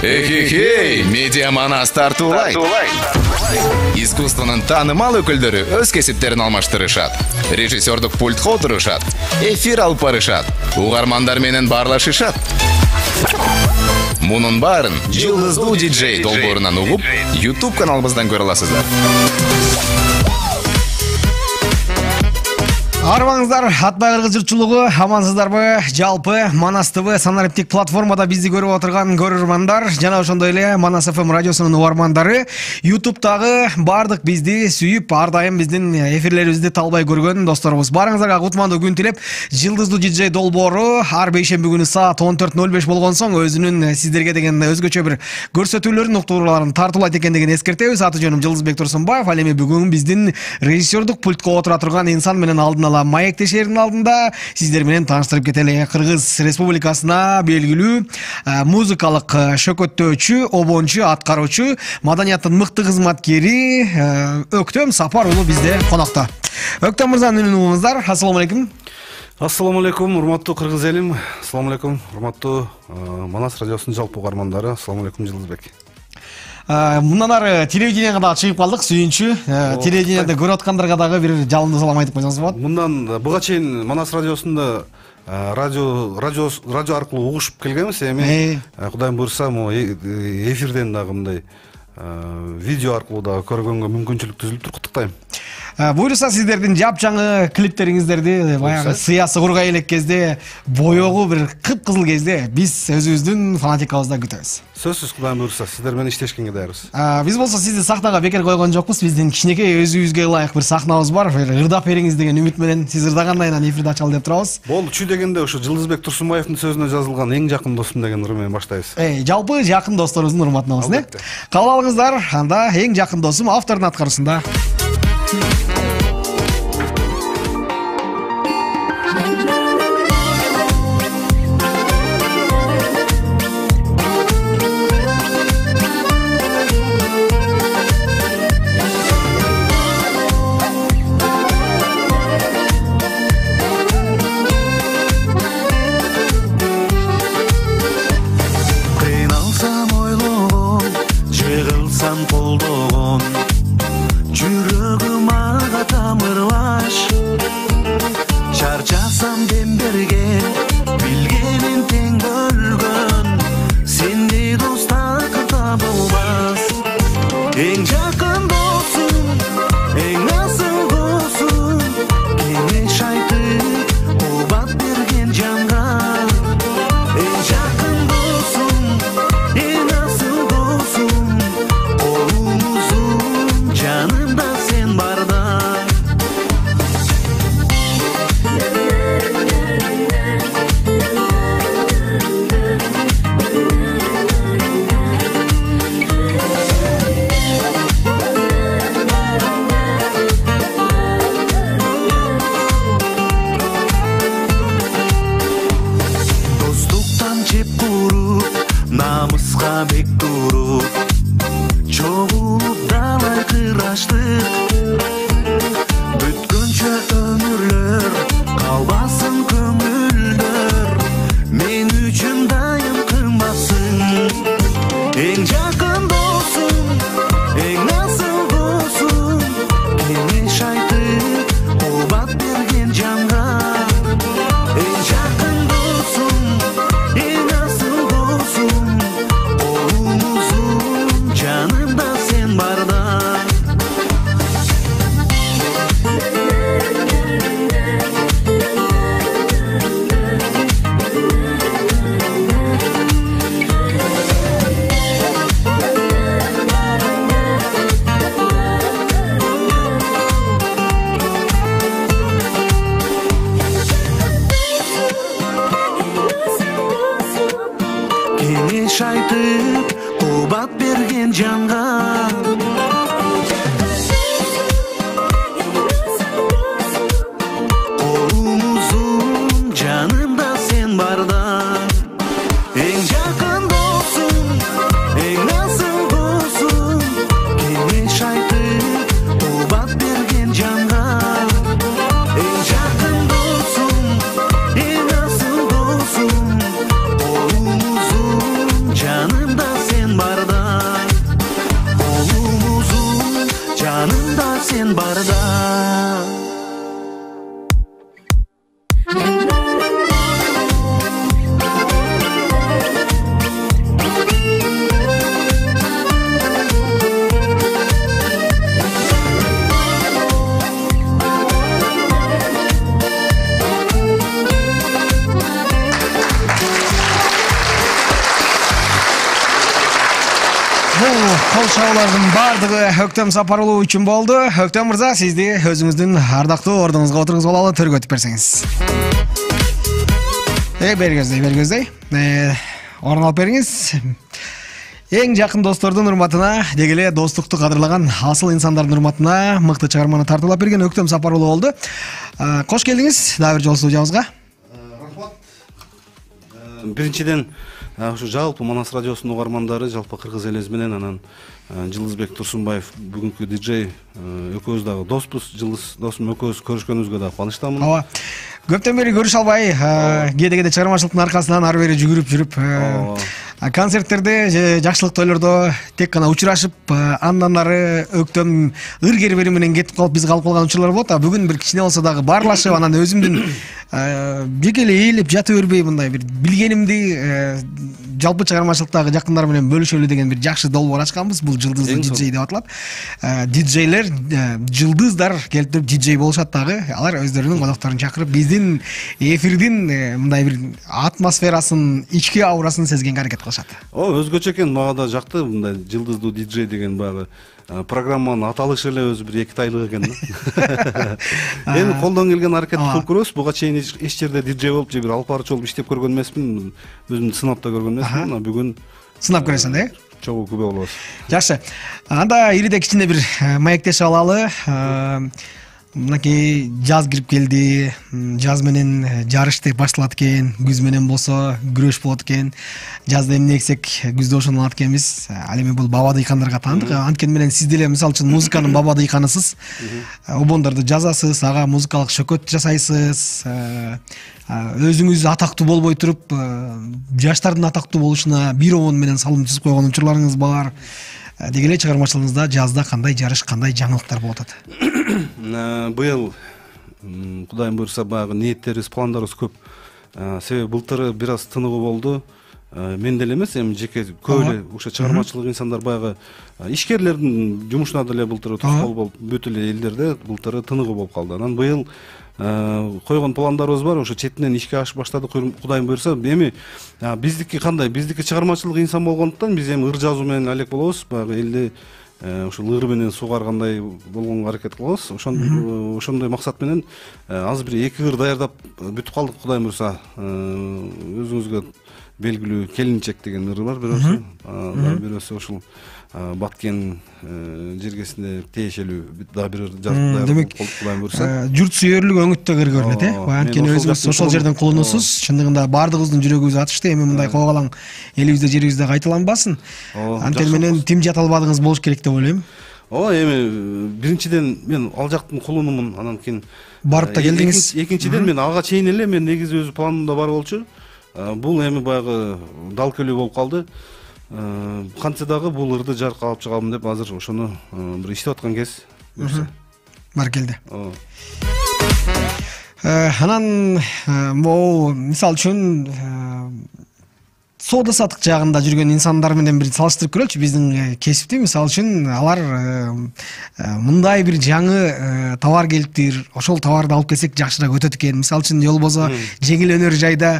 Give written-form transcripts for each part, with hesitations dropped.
Эхе-хей, Медиа Манас тартуулайт. Искусствонун таанымал өкүлдөрү өз кесиптерин алмаштырышат. Режиссердук пультка отурушат. Эфир алып барышат. Угармандар менен баарлашышат. Мунун баарын Жылдыздуу диджей долбоорунан угуп, YouTube каналыбыздан көрө аласыздар. Арбаңыздар, Атбай Кыргыз журтчулугу, амансыздарбы? Жалпы Манас ТВ санариптик платформада бизди көрүп отурган көрөрмандар жана ошондой эле Манас ФМ радиосунун угармандары YouTube'дагы бардык бизди сүйүп, ар дайым биздин эфирлерибизди талбай көргөн досторубуз. Барыңыздарга кутмандуу күн тилеп, Жылдыздуу диджей долбоору ар бейшемби күнү саат 14:05 болгон соң өзүнүн сиздерге деген өзгөчө бир көрсөтүүлөрүн, уктурууларын тартуулайт экендигин эскертебиз. Аты жөнүм Жылдызбек Турсунбаев. Ал эми бүгүн биздин режиссердук пультка отура турган инсан менен алдын ала маектешердин алдында сиздер менен тааныштырып кетели. Кыргыз Республикасына белгилүү музыкалык шөкөттөөчү, обончу, аткаруучу, маданияттын мыкты кызматкери Өктөм Сапар уулу бизде конокто. Өктөм мырзанын үнүн угуңуздар. Ассаламу алейкум. Ассаламу алейкум, урматтуу кыргыз элим. Ассаламу алейкум, урматтуу Манас радиосунун жалпы угармандары. Ассаламу алейкум, Жылдызбек. Мындан ары телевиденияга дагы чыгып калдык, сүйүнчү. Телевиденияда көрүп аткандарга дагы бир жалындуу салам айтып койсоңуз болот. Мындан буга чейин Манас радиосунда радио аркылуу угушуп келгенбиз, эми Кудайым буйрса, эфирден дагы мындай видео аркылуу дагы көргөнгө мүмкүнчүлүк түзүлүптүр. Куттуктайм. Буйруса сиздердин жапжаңы клиптериңиздерди баягы сыясы кургай элек кезде, боёгу бир кыпкызыл кезде биз өзүбүздүн фанатикабызда күтөбүз. Сөзсүз, Кудайым буйрса, сиздер менен иштешкенге даярбыз. Биз болсо сизди сахнага бекер койгон жокпуз. Биздин кичинекей өзүбүзгө ылайык бир сахнабыз бар. Ырдап бериңиз деген үмүт менен сиз ырдагандан кийин эфирди ачалы деп турабыз. Болду, чүй дегенде ушу Жылдызбек Турсунбаевдин сөзүнө жазылган эң жакын досум деген ыры менен баштайбыз. Жалпы жакын досторубуздун урматына болсун, кабыл алыңыздар. Анда эң жакын досум автордун аткаруусунда. Бул кол чабуулардын баардыгы Өктөм Сапарулуу үчүн болду. Өктөм мырза, сизди өзүңүздүн ардактуу ордуңузга отуруңузга алалы, төргө өтүп берсеңиз. Бергөздөй. Орун алып бериңиз. Эң жакын достордун урматына, деги эле достукту кадырлаган асыл инсандардын урматына мыкты чыгарманы тартуулап берген Өктөм Сапарулуу болду. Кош келдиңиз дагы бир жолу студиябызга. Рахмат. Биринчиден ушу жалпы Манас радиосунун угармандары, жалпы кыргыз элиси менен анан Жылдызбек Турсунбаев бүгүнкү диджей экөөбүз дагы доспуз. Жылдыз досум экөөбүз көрүшкөнүбүзгө дагы кубанычтамын. Ооба. Көптөн бери көрүшө албай, кээде чыгармачылыктын аркасынан ары бери жүгүрүп жүрүп, концерттерде, жакшылык тойлордо тек гана учурашып, андан ары Өктөм ыр-кербери менен кетип калып, биз калып калган учурлар болот. Бүгүн бир кичине болсо дагы баарлашып, анан өзүмдүн жеке эле ээлеп жата бербей, мындай бир билгенимди жалпы чыгармачылыктагы жакындар менен бөлүшөлү деген бир жакшы долбоор ачканбыз. Бул Жылдыздуу диджей деп аталат. Диджейлер, жылдыздар келип туруп диджей болушат дагы. Алар өздөрүнүн конокторун чакырып, биздин эфирдин мындай бир атмосферасын, ички аурасын сезгенге аракет кылышат. Өзгөчө экен, мага да жакты мындай Жылдыздуу диджей деген баягы программанын аталышы эле өзү бир экитайлык экен. Эми колдон келген аракетти кылып көрөбүз. Буга чейин эч жерде диджей болуп же бир алып баруучу болуп иштеп көргөн эмесмин. Өзүмдү сынап да көргөн эмесмин. Бүгүн сынап көрөсүң да, чогуу күбө болобуз. Жакшы. Анда ириде кичине бир маектешип алалы. Мынакей жаз кирип келди. Жаз менен жарыштык башталат экен. Күз менен болсо күрөш болот экен. Жазда эмне эксек, күздө ошону алат экенбиз. Ал эми бул баба дыйкандарга таандык. Анткени менен сиз деле мисалы үчүн музыканын баба дыйканысыз. Обондорду жазасыз, ага музыкалык шөкөт жасайсыз. Өзүңүз атактуу болбой туруп, жаштардын атактуу болушуна бир обон менен салым түзүп койгон учурларыңыз бар. Деги эле чыгармачылыгыңызда жазда кандай жарыш, кандай жаңылыктар болуп атат? Быйыл Кудайым буйрса баягы ниеттерибиз, пландарыбыз көп. Себеби былтыры бир аз тыныгуу болду. Мен деле эмес, эми жеке көп эле ошо чыгармачылык инсандар баягы ишкерлердин жумушуна деле былтыры тоскоол болуп, бүт эле элдерде былтыры тыныгуу болуп калды. Анан быйыл койгон пландарыбыз бар, ошо четинен ишке ашып баштадык. Кудайым буйрса, эми биздики кандай? Биздики чыгармачылык инсан болгондуктан биз эми ыр жазуу менен алек болобуз. Баягы элди ушул ыр менен суугаргандай болгонго аракет кылабыз. Ошондой максат менен азыр бир 2 ыр даярдап бүтүп калдык. Кудайым буйрса, өзүңүзгө белгилүү Келинчек деген ыр бар, бирөөсү. Бирөөсү ушул Баткен жергесине тиешелүү дагы бир ыр жазып даярдап болуп, Кудайым буйрса. Журт сүйөрлүк өңүттө ыр көрүнөт, Анткени өзүңүз ошол жерден кулунусуз. Чындыгында баардыгыбыздын жүрөгүбүз атышты. Эми мындай койгалаң элибизде, жерибизде кайталанбасын. Анткени менен тим жата албадыгыңыз болуш керек деп ойлойм. Эми биринчиден мен ал жактын кулунумун, анан кийин барып да келдиңиз. Экинчиден мен ага чейин эле мен негизи өзү планымда бар болчу. Бул эми баягы дал келүү болуп калды. Кантсе дагы бул ырды жарыкка алып чыгалым деп азыр ошону бир иштеп аткан кез. Баркелде. Анан могу мисалы үчүн соода сатык жагында жүргөн инсандар менен бир салыштырып көрөлүчү биздин кесипти. Мисалы үчүн алар мындай бир жаңы товар келиптир, ошол товарды алып келсек жакшыраак өтөт экен. Мисалы үчүн же болбосо жеңил өнөр жайда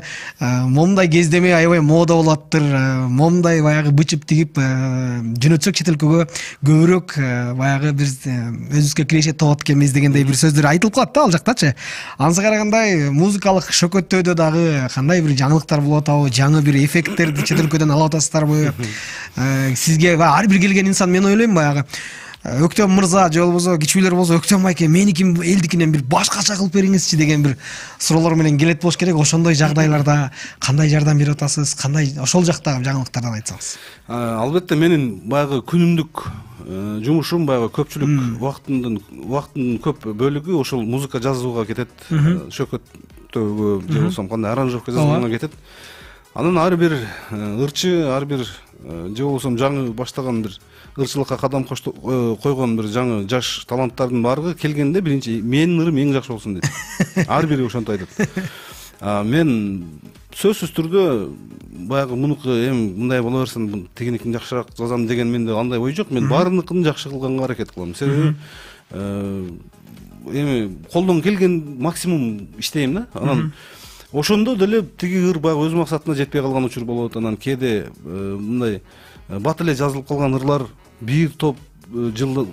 момундай кездеме аябай мода болоттур, момундай баягы бычып тигип жөнөтсөк чет өлкөгө көбүрөөк баягы биз өзүбүзгө кирешет болот экенбиз дегендей бир сөздөр айтылып калат да ал жактачы. Анысы карагандай музыкалык шөкөттөөдө дагы кандай бир жаңылыктар болуп атабы, жаңы бир эффект чет өлкөдөн алып атасыздарбы? Сизге ар бир келген инсан, мен ойлойм баягы Өктөм мырза же болбосо кичүүлөр болсо, Өктөм айке меники элдикинен бир башкача кылып бериңизчи деген бир суроолор менен келет болуш керек. Ошондой жагдайларда кандай жардам берип атасыз? Кандай ошол жактагы жаңылыктардан айтсаңыз? Албетте менин баягы күнүмдүк жумушум, баягы көпчүлүк убактын көп бөлүгү ошол музыка жазууга кетет. Шөкөттөгө же болбосо кандай аранжировка жасауга кетет. Анан ар бир ырчы, ар бир же болбосо жаңы баштаган бир ырчылыкка кадам койгон бир жаңы жаш таланттардын баардыгы келгенде биринчи менин ырым эң жакшы болсун дейт. Ар бири ошентип айтат. Мен сөзсүз түрдө баягы мунуку эми мындай боло берсин, тигиникин жакшыраак жазам деген менде андай ой жок. Мен баарыныкын жакшы кылганга аракет кылам. Себеби эми колдон келген максимум иштейм да. Анан ошондо деле тиги ыр баягы өз максатына жетпей калган учур болот. Анан кээде мындай бат эле жазылып калган ырлар бир топ жыл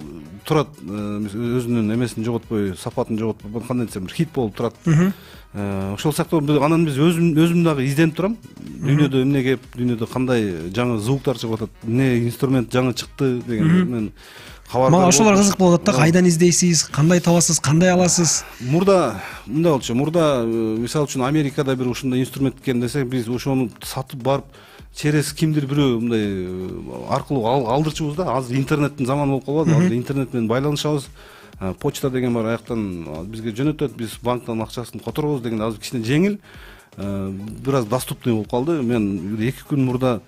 турат, өзүнүн эмесин жоготпой, сапатын жоготпой, кандай десем, хит болуп турат. Ошол сыяктуу анан биз өзүм дагы изденип турам. Дүйнөдө эмне кеп, дүйнөдө кандай жаңы звуктар чыгып атат, эмне инструмент жаңы чыкты деген мен кабардар. Мага ошолор кызык болуп атат да, кайдан издейсиз, кандай табасыз, кандай аласыз? Мурда мындай болчу. Мурда мисалы үчүн Америкада бир ушундай инструмент экен десек, биз ошону сатып барып через кимдир бирөө мындай аркылуу алдырчубуз да. Азыр интернеттин заманы болуп калбады. Азыр интернет менен байланышабыз. Почта деген бар, аяктан бизге жөнөтөт, биз банктан акчасын которобуз деген азыр кичине жеңил, бир аз доступный болуп калды. Мен 2 күн мурда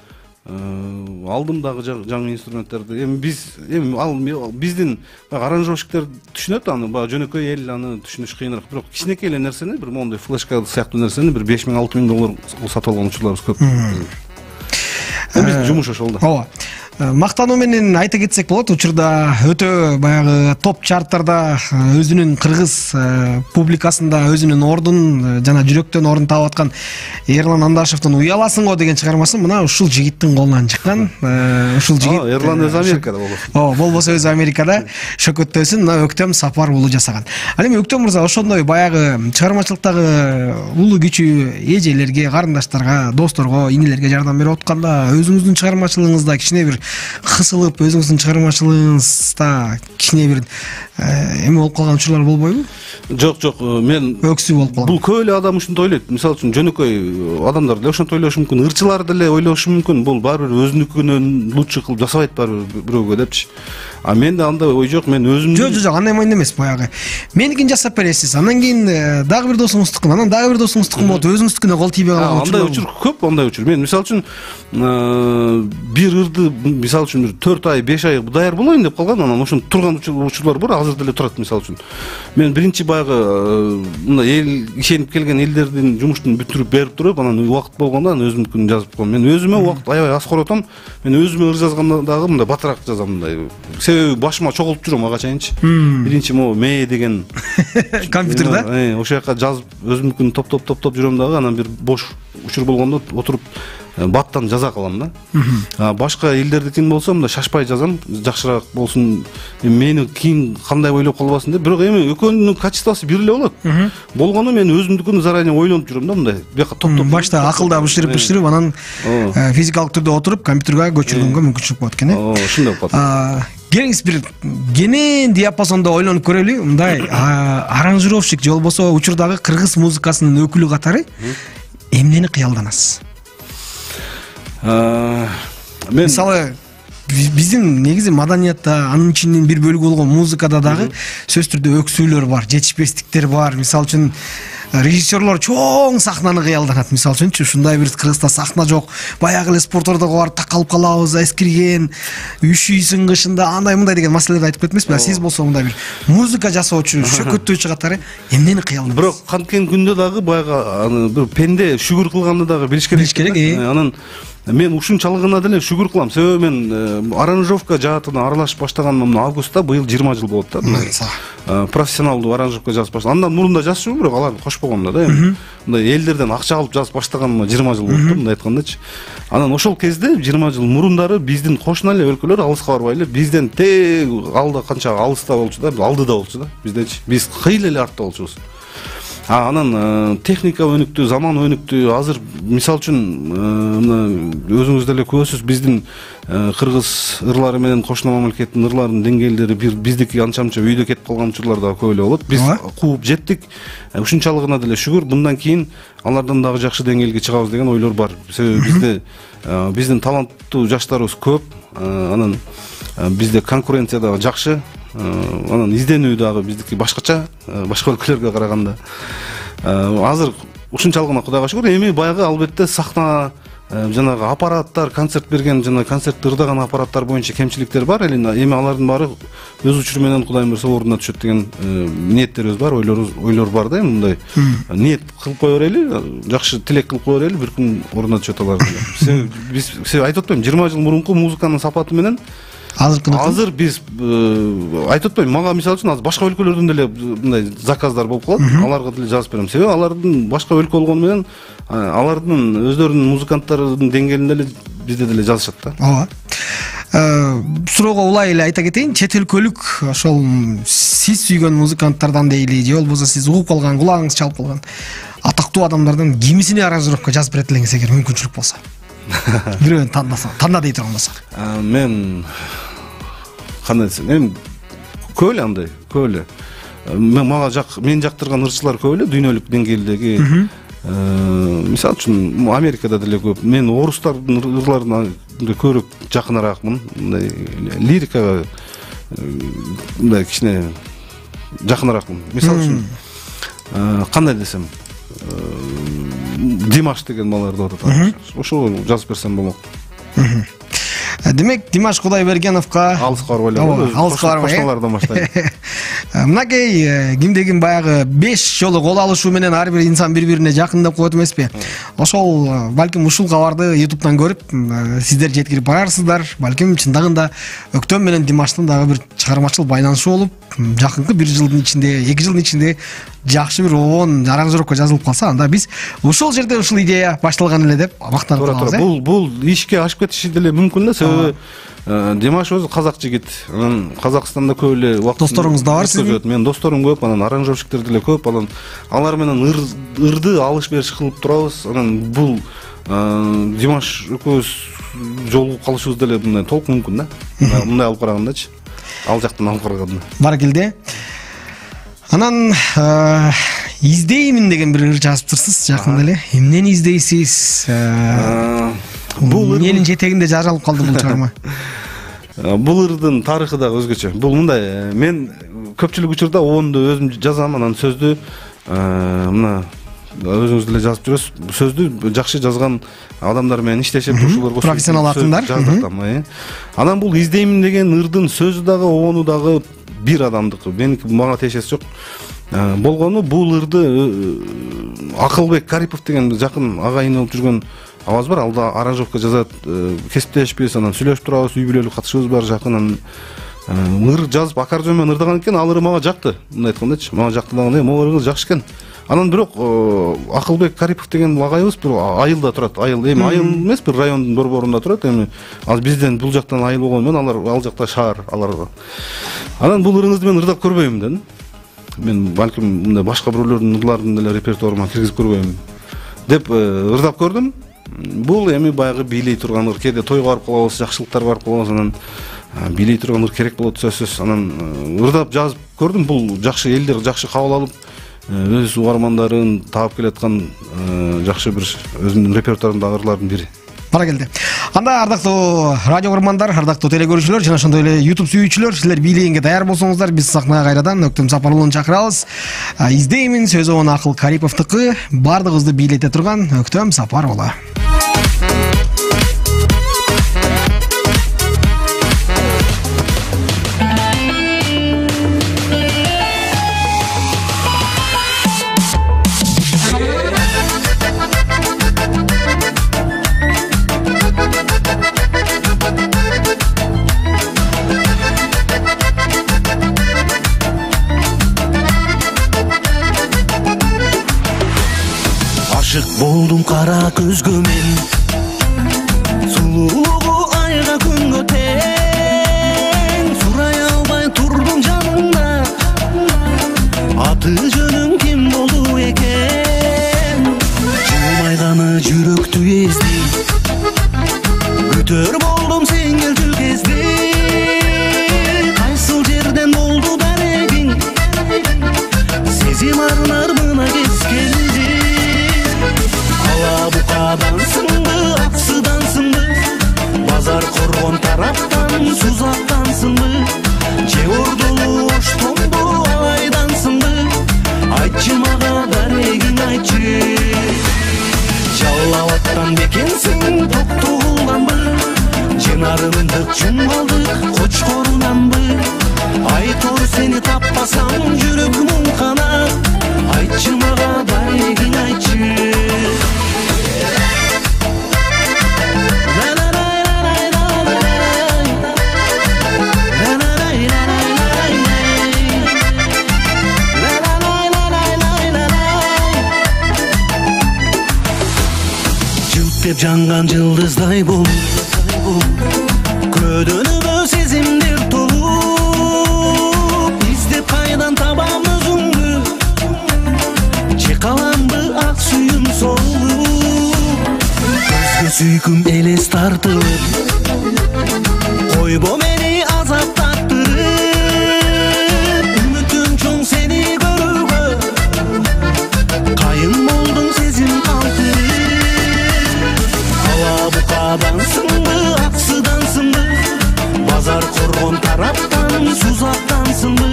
алдым дагы жаңы инструменттерди. Эми биздин аранжировщиктер түшүнөт аны, баягы жөнөкөй эл аны түшүнүш кыйыныраак. Бирок кичинекей эле нерсени, бир моундай флешка сыяктуу нерсени бир 5000-6000 доллар сатып алган учурларыбыз көп. Биздин жумуш ошол да. Ооба. Мактануу менен айта кетсек болот, учурда өтө баягы топ чарттарда өзүнүн кыргыз публикасында өзүнүн ордун жана жүрөктөн орун таап аткан Эрлан Андашевдин Уяласың го деген чыгармасы мына ушул жигиттин колунан чыккан. Ушул жигит Эрлан өзү Америкада болот. Болбосо өзү Америкада шөкөттөсүн мына Өктөм Сапар уулу жасаган. Ал эми Өктөм мырза ошондой баягы чыгармачылыктагы улуу күчү эжелерге, карындаштарга, досторго, инелерге жардам берип атканда өзүңүздүн чыгармачылыгыңызда кичине бир кысылып, өзүңүздүн чыгармачылыгыңызда кичине бир эме болуп калган учурлар болбойбу? Жок, мен өксүү болуп калган. Бул көп эле адам ушинтип ойлойт. Мисалы үчүн жөнөкөй адамдар деле ошентип ойлошу мүмкүн, ырчылар деле ойлошу мүмкүн. Бул баары бир өзүнүкүнөн лучше кылып жасабайт баары бирөөгө депчи. А менде андай ой жок, мен өзүм Жок, андай майын эмес, баягы. Меникин жасап бересиз, анан кийин дагы бир досуңуздукун, анан дагы бир досуңуздукун болот, өзүңүздүкүнө кол тийбей калган учур. Андай учур көп, андай учур. Мен мисалы үчүн бир ырды мисалы үчүн 4 ай, 5 ай даяр болоюн деп калган, анан ошону турган учурлар бар, азыр деле турат мисалы үчүн. Мен биринчи баягы мындай эл ишенип келген элдердин жумуштун бүтүрүп берип туруп, анан убакыт болгондо анан өзүмдүкүн жазып коем. Мен өзүмө убакыт аябай аз коротом. Мен өзүмө ыр жазганда дагы мындай батыраак жазам мындай. Себеби башыма чогултуп жүрөм ага чейинчи. Биринчи могу мээ деген компьютерде ошол жака жазып өзүмдүкүн топтоп жүрөм дагы, анан бир бош учур болгондо отуруп баттан жаза калам да. Башка элдердикин болсо мындай шашпай жазам, жакшыраак болсун, мени кийин кандай ойлоп калбасын деп. Бирок эми экөөнүн качествосу бир эле болот. Болгону мен өзүмдүкүн заранее ойлонуп жүрөм да, мындай. Бияка топтоп. Башта акылда бышырып, анан физикалык түрдө отуруп компьютерге көчүргөнгө мүмкүнчүлүк болот экен, э? Ошондой болот. Келиңиз бир кенен диапазондо ойлонуп көрөлү. Мындай аранжировщик же болбосо учурдагы кыргыз музыкасынын өкүлү катары эмнени кыялданасыз? Мисалы биздин негизи маданиятта анын ичинин бир бөлүгү болгон музыкада дагы сөзсүз түрдө өксүүлөр бар, жетишпестиктер бар. Мисалы үчүн режиссерлор чоң сахнаны кыялданат. Мисалы үчүнчү ушундай бир Кыргызда сахна жок, баягы эле спортордого барып такалып калабыз, эскирген, üşүйсүң кышында, андай мындай деген маселелерди айтып кетмесизби? А сиз болсо мындай бир музыка жасоочу, шөкөттөөчү катары эмнени кыялданасыз? Бирок канткен күндө дагы баягы бир пенде шүгүр кылганды дагы билиш керек. Анан мен ушунчалыгына деле шүгүр кылам. Себеби мен аранжировка жаатына аралашып баштаганым августта быйыл 20 жыл болот да. Профессионалдуу аранжировка жазып баштагам. Андан мурун да жазчумун, бирок аларды кошпогом да. Мындай элдерден акча алып жазып баштаганыма 20 жыл болуп, мындай айткандачы. Анан ошол кезде 20 жыл мурундары биздин кошуна эле өлкөлөр, алыска барбай эле бизден тег алда канча алыста болчу да, алдыда болчу да биздечи. Биз кыйла эле артта болчубуз. Анан техника өнүктү, заман өнүктү. Азыр мисалы үчүн мына өзүңүз деле көрөсүз, биздин кыргыз ырлары менен кошуна мамлекеттин ырларынын деңгээлдери биздики анча-мынча үйдө кетип калган учурлар да көп эле болот. Биз кууп жеттик. Ушунчалыгына деле шүгүр, мындан кийин алардан дагы жакшы деңгээлге чыгабыз деген ойлор бар. Себеби биздин таланттуу жаштарыбыз көп. Анан бизде конкуренция дагы жакшы. Анан изденүү дагы биздики башкача, башка өлкөлөргө караганда. Азыр ушунчалыгына Кудайга шүгүр. Эми баягы албетте сахна, жанагы аппараттар, концерт берген жана концертти ырдаган аппараттар боюнча кемчиликтер бар. Эми алардын баары өз учуру менен Кудайым берсе ордуна түшөт деген ниеттерибиз бар, ойлор бар да. Мындай ниет кылып кое берели, жакшы тилек кылып кое берели, бир күн ордуна түшөт алар. Себеби айтып атпаймынбы, 20 жыл мурунку музыканын сапаты менен Азыр биз айтып атпайм, мага мисалы үчүн азыр башка өлкөлөрдөн деле мындай заказдар болуп калат. Аларга деле жазып берем. Себеби алардын башка өлкө болгону менен алардын өздөрүнүн музыканттарынын деңгээлинде эле бизде деле жазышат да. Ооба. Суроого улай эле айта кетейин, чет өлкөлүк ошол сиз сүйгөн музыканттардан дейли, же болбосо сиз угуп калган, кулагыңыз чалып калган атактуу адамдардан кимисине аранжировка жазып берет элеңиз эгер мүмкүнчүлүк болсо? Бирөөнү танда дей турган болсо. Мен кандай десем, эми көп эле андай, көп эле. Мен жактырган ырчылар көп эле дүйнөлүк деңгээлдеги. Мисалы үчүн Америкада деле көп. Мен орустардын ырларына көбүрөөк жакыныраакмын. Мындай лирикага мындай кичине жакыныраакмын. Мисалы үчүн кандай десем, Димаш деген баларды атат. Ошого жазып берсем болмок. Демек, Димаш Кудайбергеновго алыска барбай эле, алыска барбай. Кошуналардан баштайт. Мынакей кимдегин баягы 5 жолу кол алышуу менен ар бир инсан бири-бирине жакындап коет эмеспи? Ошол балким ушул кабарды YouTube'дан көрүп, сиздер жеткирип барарсыздар. Балким чындыгында Өктөм менен Димаштын дагы бир чыгармачыл байланышы болуп, жакынкы 1 жылдын ичинде, 2 жылдын ичинде жакшы бир оон аранжировка жазылып калса, анда биз ушул жерде ушул идея башталган эле деп мактанып калабыз. Бул ишке ашып кетиши деле мүмкүн да, себеби Димаш өзү казак жигит. Анан Казакстанда көп эле убакыт. Досторуңуз да бар сиздин? Мен досторум көп, анан аранжировщиктер деле көп. Анан алар менен ырды алыш-бериш кылып турабыз. Анан бул Димаш экөөбүз жолугуп калышыбыз деле мындай толук мүмкүн да. Мындай алып карагандачы. Ал жактан алып караганда. Баракелде. Анан издеймин деген бир ыр жазыптырсыз жакында эле. Эмнени издейсиз? Бул элин жетегинде жаралып калды бул чыгарма. Бул ырдын тарыхы дагы өзгөчө. Бул мындай, мен көпчүлүк учурда оонду өзүм жазам, анан сөздү мына өзүңүз деле жазып жүрөсүз. Сөздү жакшы жазган адамдар менен иштешип, ушулар профессионал акындар жаздыртам. Анан бул издеймин деген ырдын сөзү дагы, оону дагы бир адамдыкы. Меники мага тиешеси жок. Болгону бул ырды Акылбек Карипов деген жакын агайын болуп жүргөн аваз бар, алда аранжировка жазат, кесиптешпиз, анан сүйлөшүп турабыз, үй бүлөлүк катышыбыз бар жакын. Ыр жазып аккордеон менен ырдаган экен, ал ыры мага жакты. Мындай айткандачы, мага жакты дагы, могу ыры жакшы экен. Анан бирок Акылбек Карипов деген агайыбыз бир айылда турат. Айыл эмес, бир райондун борборунда турат. Эми азыр бизден бул жактан айыл болгону менен алар ал жакта шаар алар. Анан бул ырыңызды мен ырдап көрбөйм дедим. Мен балким мындай башка биреулөрдүн ырларын деле репертуарыма киргизип көрбөйм деп ырдап көрдүм. Бул эми баягы бийлей турган ыр, кээде тойго барып калабыз, жакшылыктар барып калабыз, анан бийлей турган ыр керек болот сөзсүз. Анан ырдап жазып көрдүм, бул жакшы, элдер жакшы кабыл алып, өз угармандарын таап келаткан жакшы бир өзүмдүн репертуарымдагы ырлардын бири. Баракелде. Анда ардактуу радио көрөрмандар, ардактуу телекөрүүчүлөр, жана ошондой эле YouTube сүйүүчүлөр, силер бийлегенге даяр болсоңуздар, биз сахнага кайрадан Өктөм Сапар уулун чакырабыз. Издеймин сөзү он Акыл Кариповдуку, бардыгыбызды бийлете турган Өктөм Сапар уулу. Болдум кара көзгө мен, сулуулугу айга күнгө тең, сурай албай турдум жанында, аты жөнүң ким болду экен? Жылмайганы жүрөктү эзди, күтөр болдум сен келчү кезди, кайсыл жерден болду дарегиң, сезим арнармына кескенди. Букадансыңбы, аксыдансыңбы, базар коргон тараптан сузактансыңбы, же ордулу оштонду алайдансыңбы, айтчы мага дарегиң айтчы. Жалалаттан бекенсиң токтогулданбы, же нарындык чумалдык кочкорунанбы, айтор сени таппасам жүрөк муңкана, айтчы мага дарегиң айтчы. жанган жылдыздай бол, көдөнүмө сезимдер толуп, издеп кайдан табам өзүңдү, чыкаламбы ак сүйүм солуп, өзгө сүйкүм элес тартып, койбо мени азаптаттырып, үмүтүм чоң сени көрүүгө, кайын болдуң сезим калтырып, ала букадансыңбы, аксыдансыңбы, базар коргон тараптан сузактансыңбы,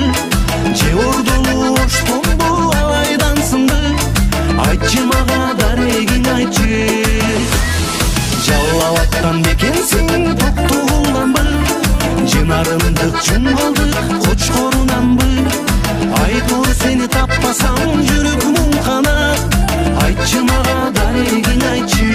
же ордолу оштонбу алайдансыңбы, айтчы мага дарегиң айтчы, жалалаттан бекенсиң токтогулданбы, жынарымдык чумалдык кочкорунанбы, айтор сени таппасам жүрөк муңканат, айтчы мага дарегиң айтчы.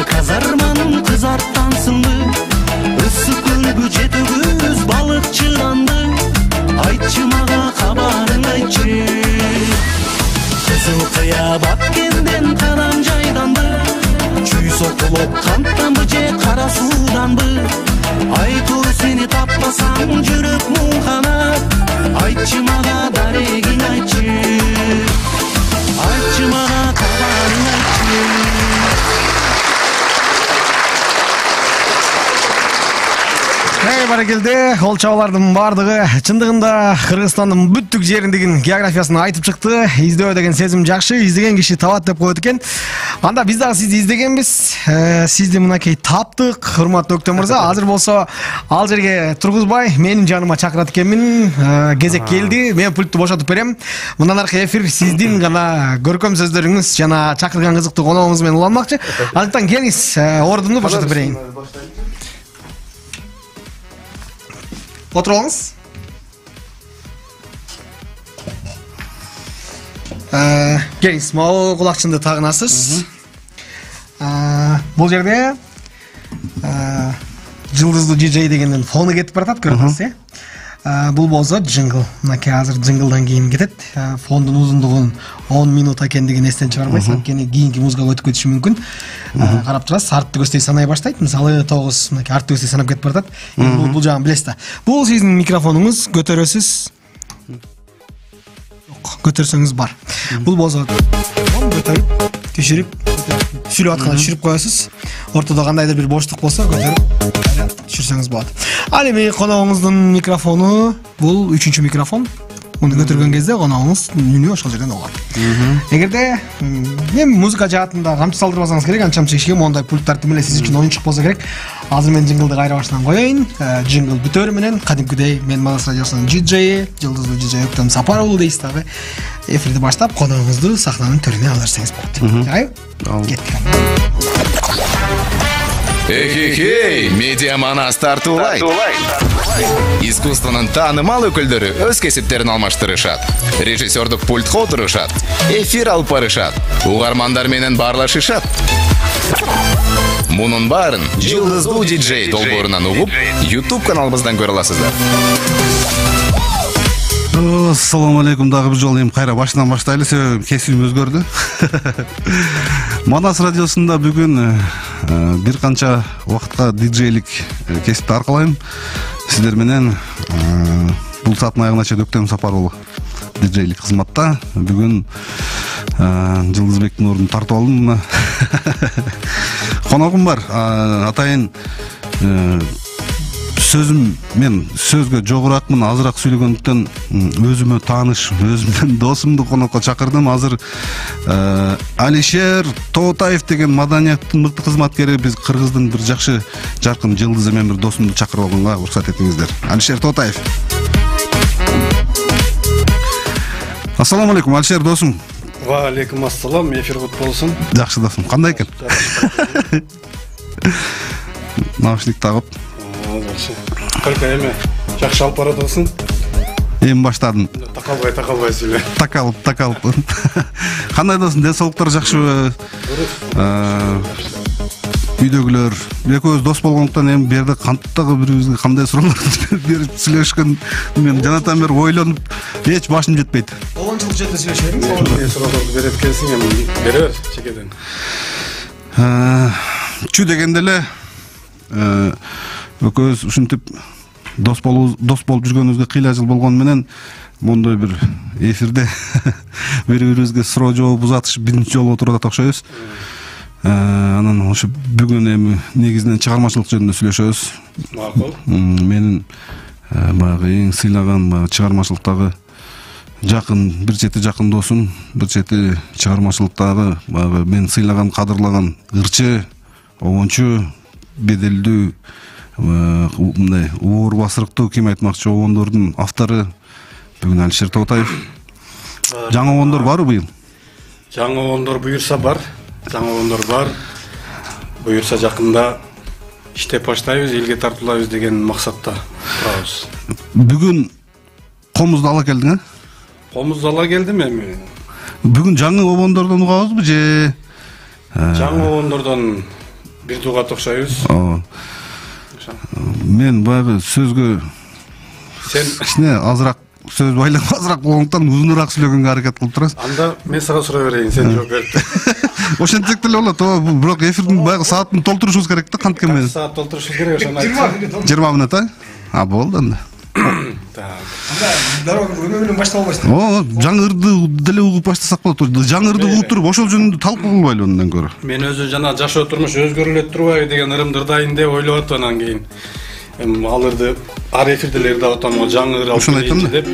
Казарманын кызарттансыңбы, ысык көлгү жетөгүз балыкчыданды, айтчы мага кабарың айтчы, кызыл кыябат кенден кадам жайданбы, чүй сокулуп канттанбы же кара сууданбы, айтор сени таппасам жүрөк муңканат, айтчы мага дарегиң айтчы, айтчы мага кабарың айтчы. Баракелде, ол чабалардын бардыгы чындыгында Кыргызстандын бүттүк жериндегин географиясын айтып чыкты. Издөө деген сезим жакшы, издеген киши табат деп коет экен. Анда биз дагы сизди издегенбиз. Сизди мынакей таптык, урматтуу Өктөм мырза. Азыр болсо ал жерге тургузбай, менин жаныма чакырат экенмин. Кезек келди. Мен пультту бошотуп берем. Мындан аркы эфир сиздин гана көркөм сөздөрүңүз жана чакырган кызыктуу коногуңуз менен уланмакчы. Андыктан келиңиз, ордумду бошотуп берейин. Отуруңуз. Келиңиз, могу кулакчынды тагынасыз. Бул жерде жылдыздуу DJ дегенден фону кетип баратат, көрүп атасыз, Бул болсо джингл. Мынакей азыр джинглдан кийин кетет. Фондун узундугун 10 минут экендигин эстен чыгарбайсыз, анткени кийинки музыкага өтүп кетиши мүмкүн. Карап турасыз, артты көздөй санай баштайт. Мисалы 9 мынакей артты көздөй санап кетип баратат. Бул жагын билесиз да. Бул сиздин микрофонуңуз, көтөрөсүз. Көтөрсөңүз бар. Бул болсо көтөрүп, түшүрүп, сүйлөп атканда түшүрүп коесуз. Ортодо кандайдыр бир боштук болсо көтөрүп түшүрсөңүз болот. Ал эми коногуңуздун микрофону бул 3-чү микрофон. Муну көтөргөн кезде коногуңуз үнү ошол жерден угат. Эгерде мен музыка жаатында камчы салдырбасаңыз керек, анча кишиге мондай пульттарды менен сиз үчүн оюнчук болсо керек. Азыр мен джинглды кайра башынан коеюн. Джингл бүтөрү менен кадимкидей мен Манас радиосунун диджейи, жылдыздуу диджей Өктөм Сапарулу дейсиз дагы. Эфирди баштап коногуңузду сахнанын төрүнө алып берсеңиз болот. Жайбы? Кеттик. Эхе-хей, медиа Манас тартуулайт. Искусствонун таанымал өкүлдөрү өз кесиптерин алмаштырышат. Режиссердук пультка отурушат. Эфир алып барышат. Угармандар менен баарлашышат. Мунун баарын жылдыздуу диджей долбоорунан угуп, YouTube каналыбыздан көрө аласыздар. Ассаламу алейкум, дагы бир жолу эми кайра башынан баштайлы, себеби кесибим өзгөрдү. Манас радиосунда бүгүн бир канча убакытка диджейлик кесипти аркалайм. Сиздер менен бул сааттын аягына чейин Өктөм Сапарулу диджейлик кызматта. Бүгүн Жылдызбектин ордун тартып алдым. Коногум бар. Атайын сөзүм, мен сөзгө жогоракмын, азыраак сүйлөгөндүктөн өзүмө тааныш, өзүмдүн досумду конокко чакырдым. Азыр Алишер Тоотаев деген маданияттын мыкты кызматкери, биз Кыргыздын бир жакшы жаркын жылдызы, мен бир досумду чакырып алганга уруксат этиңиздер. Алишер Тоотаев. Ассаламу алейкум, Алишер досум. Ва алейкум ассалам, эфир кут болсун. Жакшы досум. Кандай экен? Наушник тагып. Жакшы. Кырка эме жакшы алып баратасың? Эми баштадым. Такалбай сүйлө. Такалып. Кандай досум, ден соолуктар жакшыбы? Үйдөгүлөр, экөөбүз дос болгондуктан эми бу жерде кантагы бирибизге кандай суроолорду берип сүйлөшкөн мен жанатан бери ойлонуп эч башым жетпейт. Олончулук жерде сүйлөшөбүз. Эмне суроолорду берет экенсиң, эми бере бер чекеден. Чү дегенде эле экөөбүз ушинтип дос болуп жүргөнүбүзгө кыйла жыл болгону менен мондой бир эфирде бири-бирибизге суроо жооп узатышып биринчи жолу отуруп атат окшойбуз. Анан ошо бүгүн эми негизинен чыгармачылык жөнүндө сүйлөшөбүз. Макул. Менин баягы эң сыйлаган чыгармачылыктагы жакын, бир чети жакын досум, бир чети чыгармачылыктагы баягы мен сыйлаган, кадырлаган ырчы, обончу, беделдүү, мындай оор басырыктуу, ким айтмакчы, обондордун автору бүгүн Алишер Тоотаев. Жаңы обондор барбы быйыл? Жаңы обондор буюрса бар. Буюрса жакында иштеп баштайбыз, элге тартуулайбыз деген максатта турабыз. Бүгүн комузду ала келдиң, Комузду ала келдим эми. Бүгүн жаңы обондордон угабызбы же? Жаңы обондордон бир дугат окшойбуз. Мен баягы сөзгө Сен азыраак сөз байлап азыраак болгондуктан узунураак сүйлөгөнгө аракет кылып турасыз. анда мен сага суроо берейин, сен жооп бер. Ошентсек деле болот, бирок эфирдин баягы саатын толтурушубуз керек да, канткен менен. Саат толтурушубуз керек, ошону айт. 20 мүнөт, болду анда. Дароо өмө менен баштап албайсың. Жаңы ырды деле угуп баштасак болот. Жаңы ырды угуп туруп ошол жөнүндө талкуу кылбайлы андан көрө. Мен өзү жана жашоо турмуш өзгөрүлөт турбайбы деген ырымды ырдайын деп ойлоп атам, анан кийин ал ырды ар эфирде эле ырдап атам, жаңы ыр алып келейинчи деп.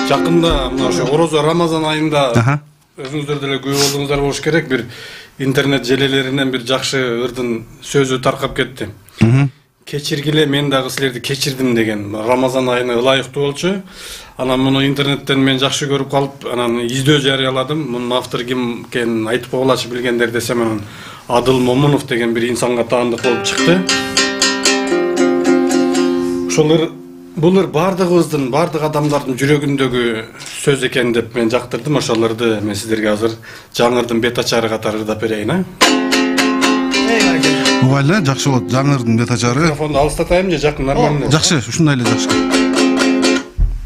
Жакында мына ошо Орозо Рамазан айында өзүңүздөр деле күбө болдуңуздар болуш керек, бир интернет желелеринен бир жакшы ырдын сөзү таркап кетти. Кечиргиле, мен дагы силерди кечирдим деген Рамазан айына ылайыктуу болчу. Анан муну интернеттен мен жакшы көрүп калып, анан издөө жарыяладым. Мунун автору ким экенин айтып койгулачы билгендер десем, анан Адыл Момунов деген бир инсанга таандык болуп чыкты. Ошол бул ыр бардыгыбыздын, бардык адамдардын жүрөгүндөгү сөз экен деп мен жактырдым. Ошолорду мен сиздерге азыр жаңы ырдын бет ачары катары ырдап берейин, Угайлы, жакшы болот. Жаңы ырдын бет ачары. Микрофонду алыстатайым же жакын нормально? Жакшы, ушундай эле жакшы.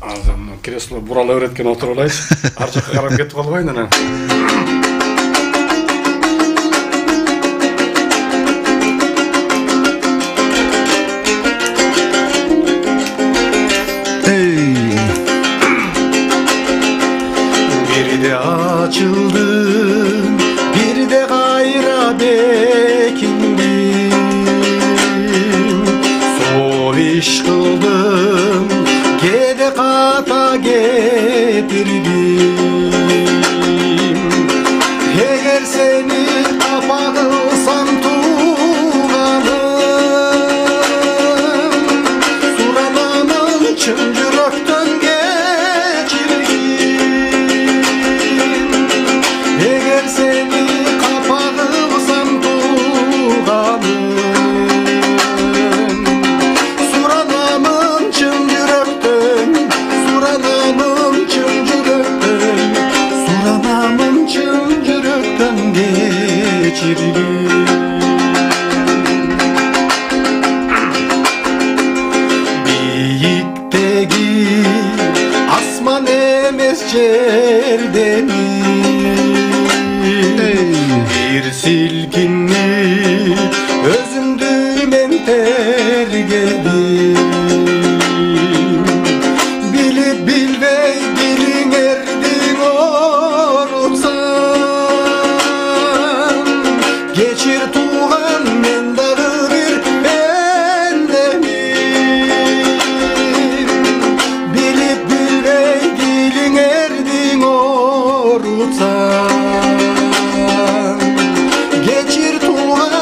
Азыр кресло бурала өреткен отуруп алайчы. Ар жакка карап кетип калбайын анан. Бирде ачылдым, бирде кайра бекиндим. Сол иш кылдым, кээде ката кетирдим. Эгер сени капа кылсам тууганым, суранамын чын жүрөктөн кечиргин. Эгер сени капа кылсам тууганым, суранамын чын жүрөктөн, суранамын чын жүрөктөн, суранамын чын жүрөктөн кечиргин. Бийиктеги асман эмес жердени, бир силкинип өзүмдү мен тергедим. Билип билбей билиңердиң орутсам, кечир тууган мен дагы бир пендемин. Билип билбей билиңердиң орутсам, кечир тууган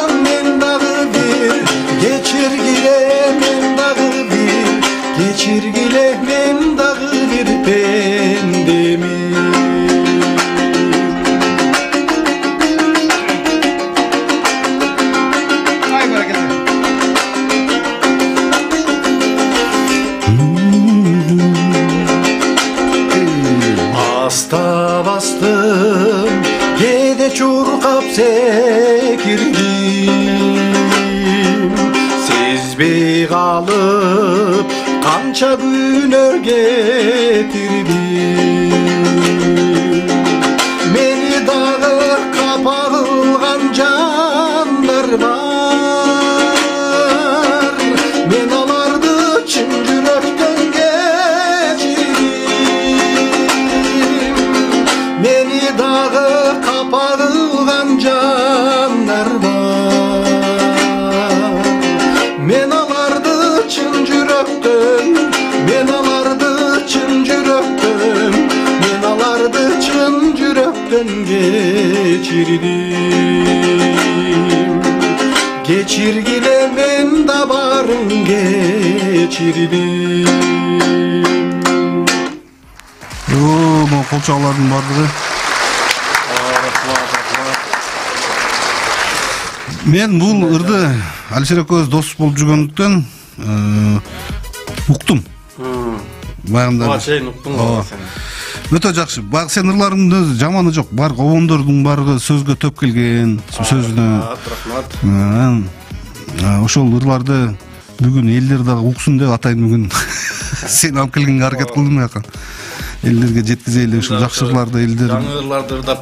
баста бастым, кээде чуркап секирдим, сезбей калып канча күнөр кетирдим. Мени дагы капа кылган жандар бар, мен аларды чын жүрөктөн кечирдим. Мени дагы капа кылган жандар бар, мен аларды чын жүрөктөн, мен аларды чын жүрөктөн, мен аларды чын жүрөктөн кечирдим. Кечиргиле мен да барын кечирдим. Могу кол чабуулардын баардыгы. Мен бул ырды Алишер экөөбүз дос болуп жүргөндүктөн уктум. Баягында. Буга чейин уктуңбу сен? Өтө жакшы. Баягы сен ырларыңдын жаманы жок. Бар обондордун баардыгы сөзгө төп келген, сөздү. Рахмат. Ошол ырларды бүгүн элдер дагы уксун деп атайын бүгүн. Сен алып келгенге аракет кылдым яка. Элдерге жеткизели ушул жакшы ырларды элдер. Жаңы ырларды ырдап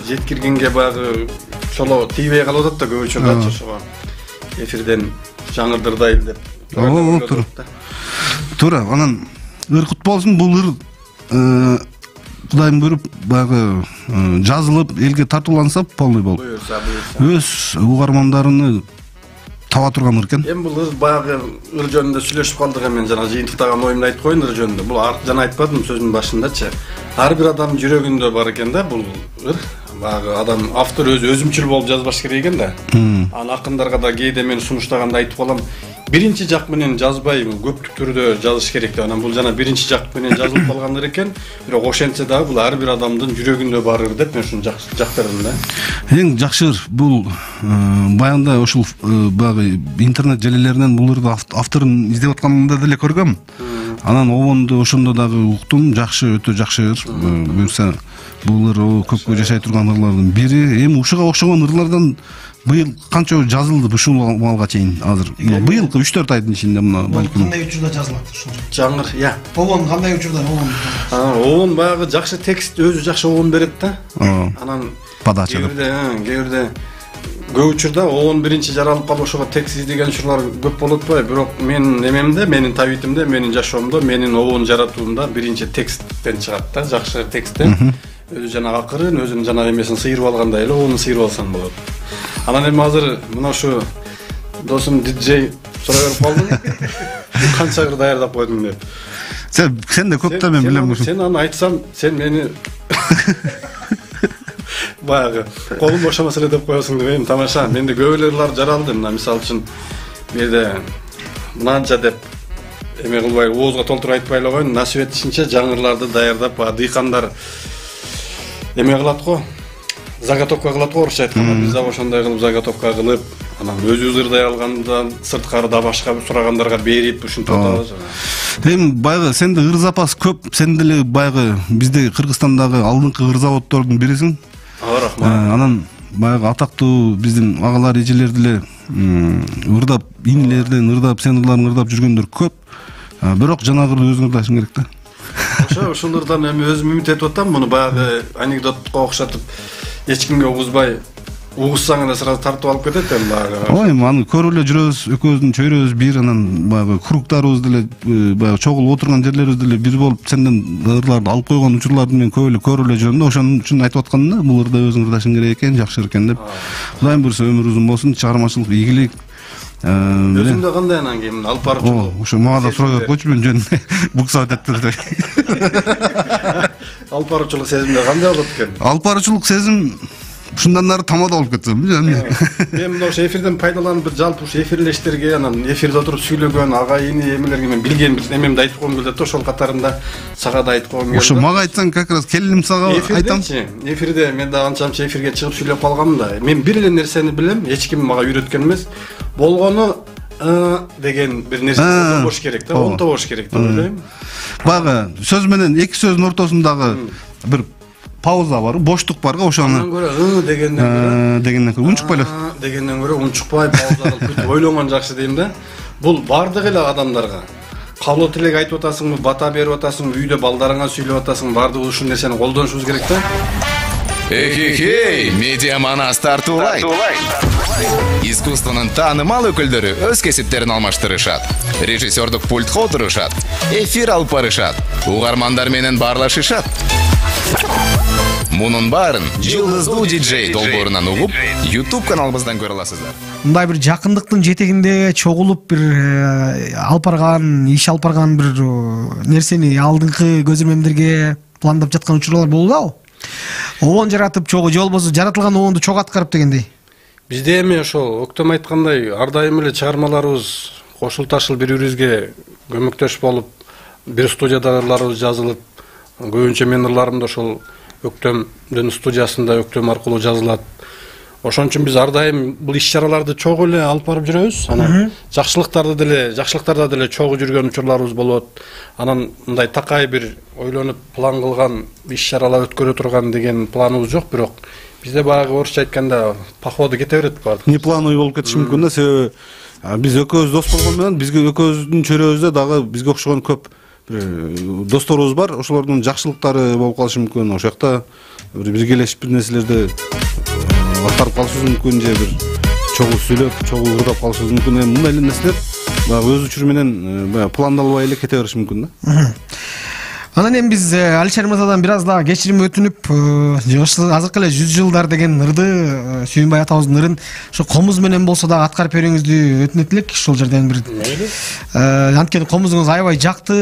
жеткиргенге баягы шоло тийбей калып атат да көбүчө ошого. Эфирден жаңырдырдайлы деп. Туура, анан ыркыт болсун, бул ыр Кудайым буйруп баягы жазылып элге тартууланса полный болуп. Өз угармандарыны таба турган ыр экен. Эми бул баягы ыр жөнүндө сүйлөшүп калдык, мен жана жыйынтыктаган оюмду айтып коеюн ыр жөнүндө. Бул жана айтпадым сөзүмдүн башындачы. Ар бир адамдын жүрөгүндө бар экен да бул ыр. Баягы адам автор өзүмчүл болуп жазбаш керек экен да. Анан акындарга да кээде мен сунуштаганда айтып калам. Биринчи жак менен жазбай, көптүк түрдө жазыш керек деп. Анан бул жана биринчи жак менен жазылып калгандыр экен. Бирок ошентсе дагы бул ар бир адамдын жүрөгүндө бар ыр деп мен ушуну жактырдым да. Эң жакшы ыр бул баягында ошол баягы интернет желелеринен бул ырды авторун издеп атканымда деле көргөм. Анан обонду ошондо дагы уктум. Жакшы, өтө жакшы ыр. Буюрса бул ыр көпкө жашай турган ырлардын бири. Эми ушуга окшогон ырлардан быйыл канча жазылды ушул маалга чейин азыр? Быйылкы 3-4 айдын ичинде мына балким. Кандай учурда жазылат ушул? Жаңыр, Обон кандай учурда обон? Обон баягы жакшы текст өзү жакшы обон берет да. Анан подача деп. Кээ көп учурда обон биринчи жаралып калып ошого текст издеген учурлар көп болуп атпайбы? Бирок менин эмемде, менин табитимде, менин жашоомдо, менин обон жаратуумда биринчи тексттен чыгат да, жакшы тексттен. Өзү жана акырын, өзүнүн жана эмесин сыйрып алгандай эле обонун сыйрып алсаң болот. Анан эми азыр мына ушу досум диджей сурай берип калды. Канча ыр даярдап койдуң деп. Сен да көп да мен билем ушу. Сен аны айтсам, сен мени баягы колум бошомос эле деп коесуң деп эми тамаша. Менде көп эле ырлар жаралды. Мына мисалы үчүн менде мынанча деп эме кылбай оозго толтуруп айтпай эле коеюн. Насип этишинче жаңырларды даярдап, дыйкандар эме кылат го. Заготовка кылат го, орусча айтканда. Биз да ошондой кылып заготовка кылып, анан өзүбүз ырдай алгандан сырткарыда башка сурагандарга берип ушинтип атабыз. Эми баягы сенде ыр запас көп, сен деле баягы бизде Кыргызстандагы алдыңкы ыр заводдордун бирисиң. Рахмат. Анан баягы атактуу биздин агалар, эжелер деле ырдап, инилерден ырдап, сен ырларын ырдап жүргөндөр көп. Бирок жанагы ырды өзүң ырдашың керек да. Ошол ырдан эми өзүм үмүт этип атам, муну баягы анекдотко окшотуп эч кимге угузбай, угузсаң эле сразу тартып алып кетет эми баягы. Ой, аны көрүп эле жүрөбүз, экөөбүздүн чөйрөбүз бир, анан баягы кругтарыбыз деле баягы чогулуп отурган жерлерибиз деле бир болуп, сенден ырларды алып койгон учурларды мен көп эле көрүп эле жүрөм да, ошон үчүн айтып аткам да, бул ырда өзүң ырдашың керек экен, жакшы экен деп. Кудайым буйруса өмүр узун болсун, чыгармачылык ийгилик. Өзүмдө кандай анан кийин алып барып ошо мага да сурай берип койчу, мен жөн буксап атат деп. Алып баруучулук сезимде кандай болот экен? Алып баруучулук сезим ушундан нары тамада болуп кетсем. Мен мына ошо эфирден пайдаланып бир жалпы ушу эфирлештерге, анан эфирде отуруп сүйлөгөн агайыны эмелерге мен билген бир эмемди айтып койгум келет да, ошол катарында сага да айтып койгум келет. Ошо мага айтсаң, как раз келиним сага айтам. Эфирде мен да анча-мынча эфирге чыгып сүйлөп калганмын да. Мен бир эле нерсени билем, эч ким мага үйрөткөн эмес. Болгону деген бир нерсе болуш керек да, онто болуш керек деп ойлойм. Баягы сөз менен эки сөздүн ортосундагы бир пауза бар, боштук барга ошону дегенден көрө унчукпайлы дегенден көрө унчукпай пауза кылып бүт ойлонгон жакшы дейм да. Бул бардык эле адамдарга каалоо тилек айтып атасыңбы, бата берип атасыңбы, үйдө балдарыңа сүйлөп атасыңбы, бардыгы ушул нерсени колдонушубуз керек да. Эхе, Медиа Манас тартуулайт. Искусствонун таанымал өкүлдөрү өз кесиптерин алмаштырышат. Режиссердук пультка отурушат. Эфир алып барышат. Угармандар менен баарлашышат. Мунун баарын Жылдыздуу диджей долбоорунан угуп, YouTube каналыбыздан көрө аласыздар. Мындай бир жакындыктын жетегинде чогулуп бир алып барган, иш алып барган бир нерсени алдыңкы көзөрмөмдөргө пландап жаткан учурлар болду. Оон жаратып чогуу, же болбосо жаратылган оонду чогуу аткарып дегендей. Бизде эми ошол Октом айткандай ар дайым эле чыгармаларыбыз кошул ташыл бири-бирибизге көмөктөш болуп, бир студиядаларыбыз жазылып, көбүнчө менин ырларым да ошол Өктөмдүн студиясында Өктөм аркылуу жазылат. Ошон үчүн биз ар дайым бул иш-чараларды чогуу эле алып барып жүрөбүз. Анан жакшылыктарда деле чогуу жүргөн учурларыбыз болот. Анан мындай такай бир ойлонуп план кылган иш-чаралар өткөрө турган деген планыбыз жок, бирок бизде баягы орусча айтканда походу кете берет баардык. Не плановый болуп кетиши мүмкүн да, себеби биз экөөбүз дос болгон менен бизге экөөбүздүн чөйрөбүздө дагы бизге окшогон көп досторубуз бар. Ошолордун жакшылыктары болуп калышы мүмкүн. Ошол жакта бизге келешип бир нерселерди аткарып калышыбыз мүмкүн, же бир чогуу сүйлөп, чогуу ырдап калышыбыз мүмкүн. Мындай эле нерселер баягы өз учуру менен пландалбай эле кете бериши мүмкүн да. Анан эми биз Алишер мырзадан бир аз да кечирим өтүнүп, азыркы эле 100 жылдар деген ырды, Сүйүнбай атабыздын ырын ошо комуз менен болсо да аткарып берүүңүздү өтүнөт элек. Ошол жерден бир анткени комузуңуз аябай жакты,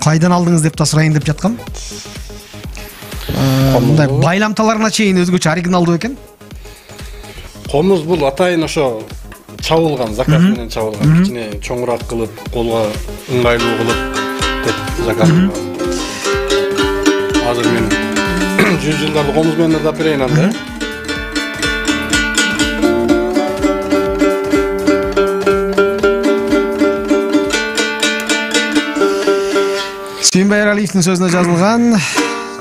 кайдан алдыңыз деп да сурайын деп жаткам. Мындай байламталарына чейин өзгөчө оригиналдуу экен. Комуз бул атайын ошо чабылган, заказ менен чабылган, кичине чоңураак кылып, колго ыңгайлуу кылып деп заказ кылган. Азыр мен 100 жылдарды комуз менен ырдап берейин анда. Сүйүнбай Эралиевдин сөзүнө жазылган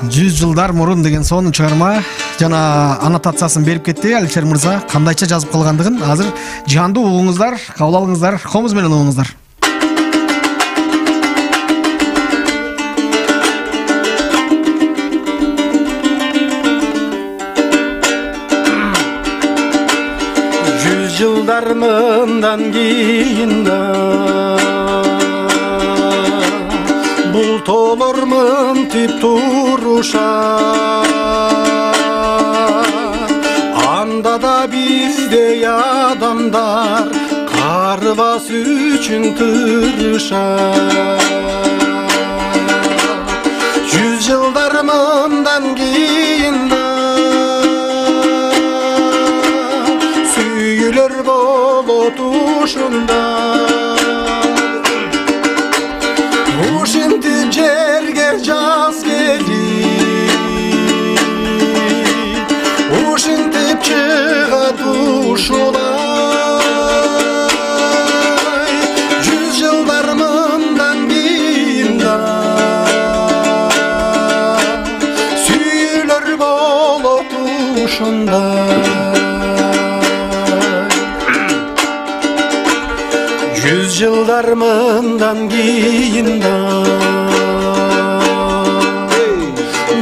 100 жылдар мурун деген сонун чыгарма жана аннотациясын берип кетти Алишер мырза. Кандайча жазып калгандыгын азыр жандуу угуңуздар, кабыл алыңыздар, комуз менен угуңуздар. Жылдар мындан кийин да бултолор мынтип турушат, анда да биздей адамдар карыбас үчүн тырышат. 100 жылдар мындан кийин да сүйүлөр болот ушунда, ушинтип жерге жаз келип, ушинтип чыгат ушулай. 100 жылдар мындан кийин да сүйүлөр болот ушунда. 100 жылдар мындан кийин да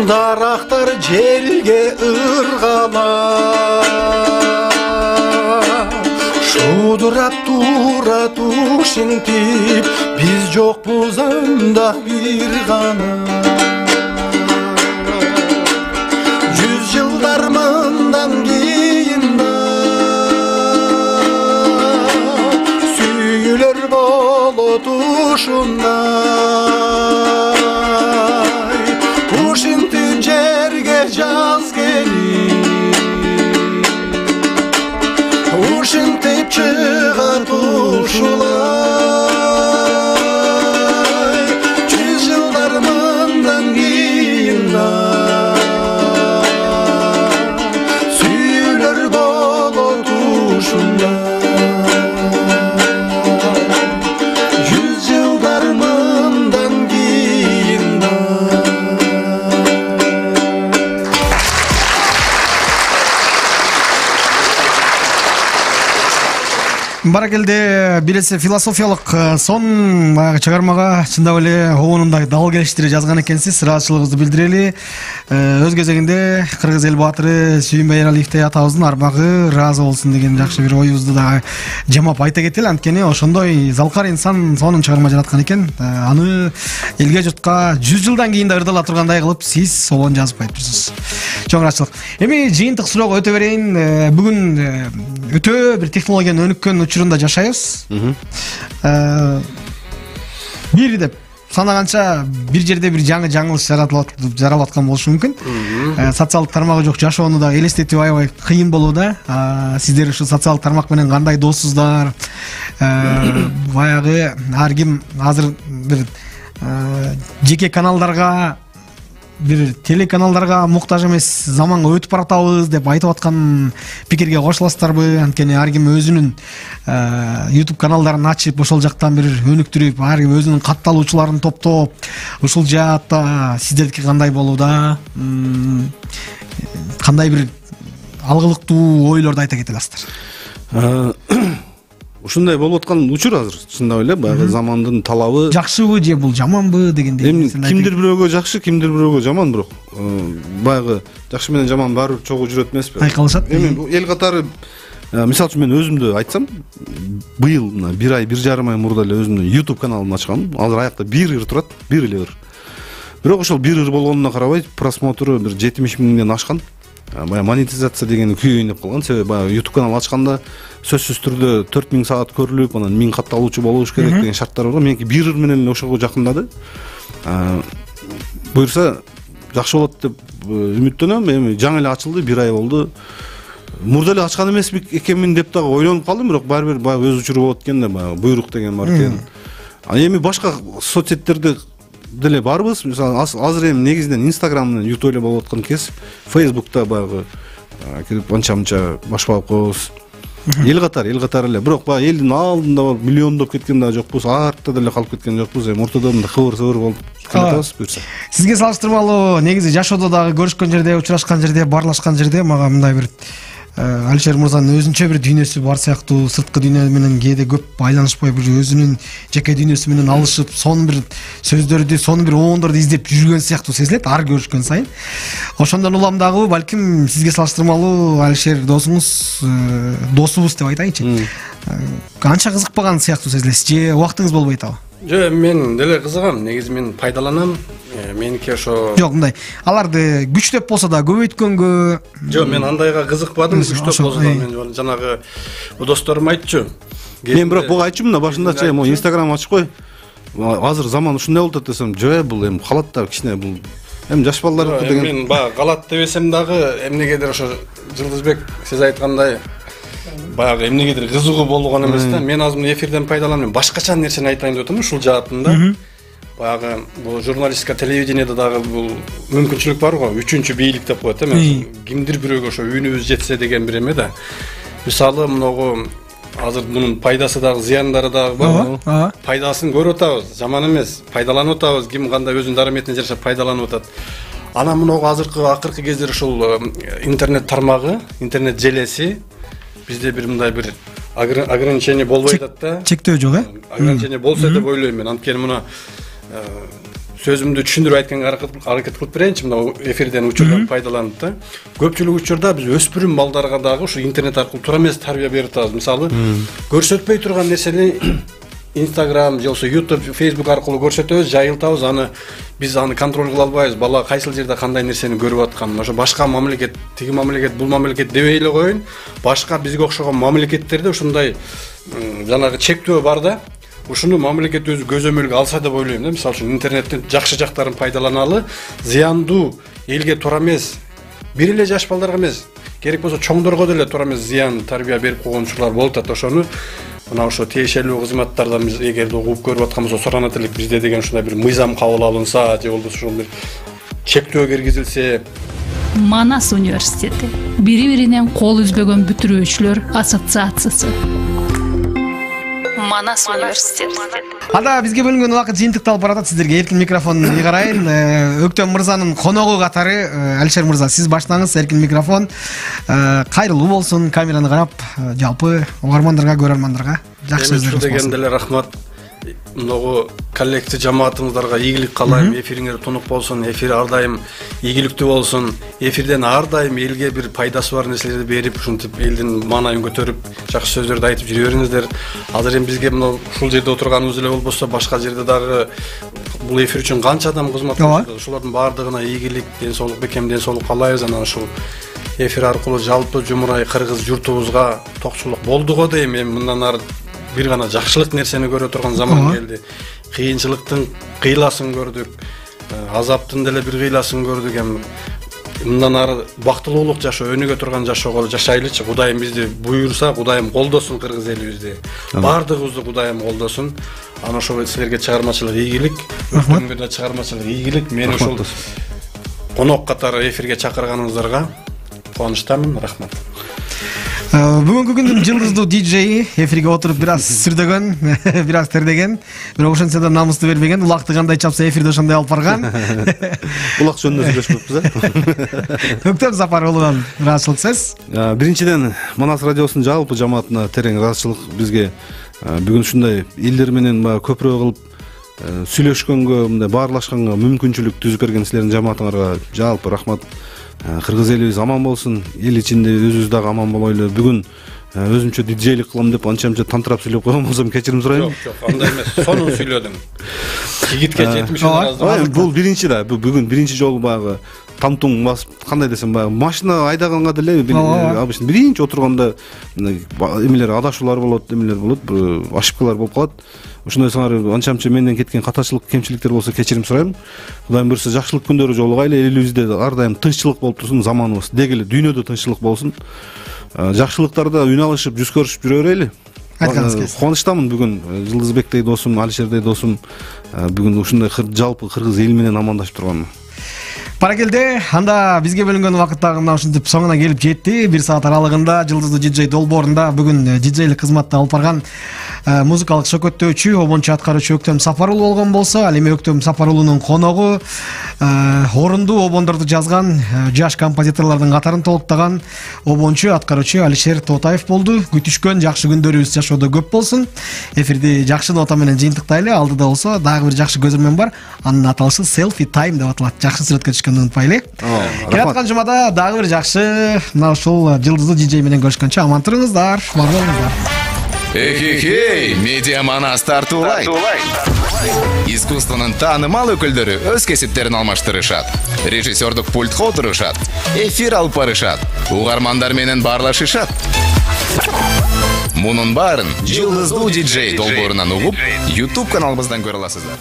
дарактар желге ыргалап, шудурап турат ушинтип, биз жокпуз анда бир гана. 100 жылдар мындан кийин да сүйүлөр болот ушундай, ушинтип жерге жаз келип, ушинтип чыгат ушулай. 100 жылдар мындан кийин да сүйүлөр болот ушундай. 100 жылдар мындан Баракелде биресе философиялык сон баягы чыгармага чындап эле обонундай дал келиштире жазган экенсиз. Ыраазычылыгыбызды билдирели. Өз кезегинде Кыргыз эл баатыры Сүйүнбай Эралиевдей атабыздын армагы ыраазы болсун деген жакшы бир оюбузду дагы жамап айта кетели. Анткени ошондой залкар инсан сонун чыгарма жараткан экен. Аны элге журтка 100 жылдан кийин да ырдала тургандай кылып сиз обон жазып коюпсуз. Чоң ыраазычылык. Эми жыйынтык суроого өтө берейин. Бүгүн өтө бир технологиянын өнүккөн учурунда жашайбыз. Бир деп санаганча бир жерде бир жаңы жаңылыш жаралып аткан болушу мүмкүн. Социалдык тармагы жок жашоону да элестетип аябай кыйын болууда. Сиздер ушу социалдык тармак менен кандай доссуздар? Баягы ар ким азыр бир жеке каналдарга, бир телеканалдарга муктаж эмес заманга өтүп баратабыз деп айтып аткан пикирге кошуласыздарбы? Анткени ар ким өзүнүн YouTube каналдарын ачып, ошол жактан бир өнүктүрүп, ар ким өзүнүн катталуучуларын топтоп, ушул жаатта сиздердики кандай болууда? Кандай бир алгылыктуу ойлорду айта кете аласыздар? Ушундай болуп аткан учур азыр чындап эле баягы замандын талабы. Жакшыбы же бул жаманбы дегендей. Эми кимдир бирөөгө жакшы, кимдир бирөөгө жаман, бирок баягы жакшы менен жаман баары бир чогуу жүрөт эмеспи? Айкалышат. Эми эл катары мисалы үчүн мен өзүмдү айтсам, быйыл мына 1 ай 1,5 ай мурда эле өзүмдүн YouTube каналымды ачкам. Азыр аякта 1 ыр турат, 1 эле ыр. Бирок ошол 1 ыр болгонуна карабай просмотру бир 70 миңден ашкан. Баягы монетизация деген күйөйүнүп калган. Себеби баягы YouTube канал ачканда сөзсүз түрдө 4000 саат көрүлүп, анан 1000 катталуучу болуш керек деген шарттар бар. Меники 1 ыр менен эле ошого жакындады. Буюрса жакшы болот деп үмүттөнөм. Эми жаңы эле ачылды, 1 ай болду. Мурда эле ачкан эмес экенмин деп дагы ойлонуп калдым, бирок баары бир баягы өз учуру болот экен да, баягы буйрук деген бар экен. Эми башка соцсеттерде деле барбыз. Мисалы азыр эми негизинен Instagram менен YouTube эле болуп аткан кез. Facebook'та баягы келип анча-мынча башпалап коебуз. Эл катары эле. Бирок баягы элдин алдында болуп миллиондоп кеткен да жокпуз, артта деле калып кеткен жокпуз. Эми ортодо мындай кыбыр-сыбыр болуп келатабыз буюрса. Сизге салыштырмалуу негизи жашоодо дагы көрүшкөн жерде, учурашкан жерде, барлашкан жерде мага мындай бир Алишер мырзанын өзүнчө бир дүйнөсү бар сыяктуу, сырткы дүйнө менен кээде көп байланышпай бир өзүнүн жеке дүйнөсү менен алышып, сонун бир сөздөрдү, сонун бир оондорду издеп жүргөн сыяктуу сезилет ар көрүшкөн сайын. Ошондон улам дагы балким сизге салыштырмалуу Алишер досуңуз, досубуз деп айтайынчы. Канча кызыкпаган сыяктуу сезилесиз же убактыңыз болбой атабы? Жок, мен деле кызыгам. Негизи мен пайдаланам. Меники ошо. Жок, мындай. Аларды күчтөп болсо да көбөйткөнгө. Жок, мен андайга кызыкпадым. Күчтөп болсо да мен жанагы досторум айтчу. Мен бирок буга айтчумун да башындачы, эми Instagram ачып кой. Азыр заман ушундай болуп атат десем, жок, бул эми калат да кичине бул. Эми жаш балдар деген. Мен баягы калат дебесем дагы эмнегедир ошо Жылдызбек сиз айткандай баягы эмнегедир кызыгуу болгон эмес да. Мен азыр эфирден пайдаланып башкача нерсени айтайын деп атам ушул жаатында. Баягы бул журналистика, телевидениеде дагы бул мүмкүнчүлүк бар го. Үчүнчү бийлик деп коет да. Кимдир бирөөгө ошо үнүбүз жетсе деген бир эме да. Мисалы мынагу азыр мунун пайдасы дагы, зыяндары дагы бар. Пайдасын көрүп атабыз, жаман эмес. Пайдаланып атабыз, ким кандай өзүнүн дараметине жараша пайдаланып атат. Анан мынагу акыркы кездер ушул интернет тармагы, интернет желеси бизде бир мындай бир ограничение болбой атат да. Чектөө жок, Ограничение болсо деп ойлойм мен. Анткени муну сөзүмдү түшүндүрүп айтканга аракет кылып берейинчи. Мына эфирден учурдан пайдаланып да. Көпчүлүк учурда биз өспүрүм балдарга дагы ушу интернет аркылуу туура эмес тарбия берип атабыз. Мисалы, көрсөтпөй турган нерсени Instagram же болсо YouTube, Facebook аркылуу көрсөтөбүз, жайылтабыз. Аны биз аны контроль кыла албайбыз. Бала кайсыл жерде кандай нерсени көрүп атканын. Ошо башка мамлекет, тиги мамлекет, бул мамлекет дебей эле коеюн. Башка бизге окшогон мамлекеттерде ушундай жанагы чектөө бар да. Ушуну мамлекет өзү көзөмөлгө алса деп ойлойм да. Мисалы үчүн интернеттин жакшы жактарын пайдаланалы, зыяндуу элге туура эмес, бир эле жаш балдарга эмес, керек болсо чоңдорго деле туура эмес зыян тарбия берип койгон учурлар болуп атат. Ошону мына ошо тиешелүү кызматтардан биз эгерде угуп көрүп аткан болсо суранат элек, бизде деген ушундай бир мыйзам кабыл алынса же болбосо ушул бир чектөө киргизилсе. Манас университети бири-биринен кол үзбөгөн бүтүрүүчүлөр ассоциациясы. Манас университет. Анда бизге бөлүнгөн убакыт жыйынтыкталып баратат. Сиздерге эркин микрофон ыйгарайын. Өктөм мырзанын коногу катары Алишер мырза, сиз баштаңыз. Эркин микрофон. Кайрылуу болсун, камераны карап, жалпы угармандарга, көрөрмандарга жакшы сөздөр дегенде эле рахмат. Многу коллектив жамаатыңыздарга ийгилик каалайм. Эфириңер тунук болсун, эфир ар дайым ийгиликтүү болсун. Эфирден ар дайым элге бир пайдасы бар нерселерди берип, ушинтип элдин маанайын көтөрүп, жакшы сөздөрдү айтып жүрө бериңиздер. Азыр эми бизге мына ушул жерде отурганыбыз эле болбосо, башка жерде дагы бул эфир үчүн канча адам кызмат кылышат. Ушулардын баардыгына ийгилик, ден соолук, бекем ден соолук каалайбыз. Анан ушул эфир аркылуу жалпы жумурай кыргыз журтубузга токчулук болду го дейм. Эми мындан ары бир гана жакшылык нерсени көрө турган заман келди. Кыйынчылыктын кыйласын көрдүк, азаптын деле бир кыйласын көрдүк. Эми мындан ары бактылуулук жашоо, өнүгө турган жашоого жашайлычы. Кудайым бизди буйрса, Кудайым колдосун кыргыз элибизди. Бардыгыбызды Кудайым колдосун. Ana ошол силерге чыгармачылык ийгилик, өктөмгө чыгармачылык ийгилик. Мени ушул конок катары эфирге чакырганыңыздарга кубанычтамын. Рахмат. Бүгүнкү күндүн жылдыздуу диджеи эфирге отуруп бир аз сүрдөгөн, бир аз тердеген, бирок ошентсе да намысту бербеген, улакты кандай чапса эфирде ошондой алып барган. Улак жөнүндө сүйлөшпөппүз. Өктөм Сапаровдон ыраазычылык сөз. Биринчиден Манас радиосунун жалпы жамаатына терең ыраазычылык. Бизге бүгүн ушундай элдер менен көпүрөөк кылып сүйлөшкөнгө, мындай баарлашканга мүмкүнчүлүк түзүп берген силердин жамаатыңарга жалпы рахмат. Кыргыз элибиз аман болсун, эл ичинде өзүбүз дагы аман болойлу. Бүгүн өзүмчө диджейлик кылам деп анча-мынча тантырап сүйлөп койгон болсом кечирим сурайм. Жок, андай эмес. Сонун сүйлөдүң. Жигитке 70 разы. Бул биринчи да, бүгүн биринчи жолу багы тамтуң басып, кандай десем, машина айдаганга деле обычно биринчи отурганда эмелер адашуулар болот, эмелер болот, ошибкалар болуп калат. Ошондой сыңар анча-мынча менден кеткен катачылык, кемчиликтер болсо кечирим сурайм. Кудайым буйрса жакшылык күндөрү жолугайлы, элибизде ар дайым тынччылык болуп турсун, заманыбыз деги эле дүйнөдө тынччылык болсун. Жакшылыктарда үн алышып, жүз көрүшүп жүрө берели. Кубанычтамын бүгүн Жылдызбектей досум, Алишердей досум бүгүн ушундай жалпы кыргыз эли менен амандашып турганыма. Баракелде, анда бизге бөлүнгөн убакыт дагы мына ушинтип соңуна келип жетти. 1 саат аралыгында Жылдыздуу диджей долбоорунда бүгүн диджейлик кызматты алып барган музыкалык шөкөттөөчү, обончу аткаруучу Өктөм Сапарулу болгон болсо, ал эми Өктөм Сапарулунун коногу орундуу обондорду жазган жаш композиторлордун катарын толуктаган обончу аткаруучу Алишер Тотаев болду. Күтүшкөн жакшы күндөрүбүз жашоодо көп болсун. Эфирди жакшы нота менен жыйынтыктайлы. Алдыда болсо дагы бир жакшы көзөрмөн бар. Анын аталышы Selfie Time деп аталат. Жакшы сүрөткө түшкөндүн унутпайлы. Келаткан жумада дагы бир жакшы мына ушул жылдыздуу диджей менен көрүшкөнчө аман туруңуздар, бар болуңуздар. Эхе-хей, Медиа Манас тартуулайт. Искусствонун таанымал өкүлдөрү өз кесиптерин алмаштырышат. Режиссердук пультка отурушат. Эфир алып барышат. Угармандар менен баарлашышат. Мунун баарын Жылдыздуу диджей долбоорунан угуп, YouTube каналыбыздан көрө аласыздар.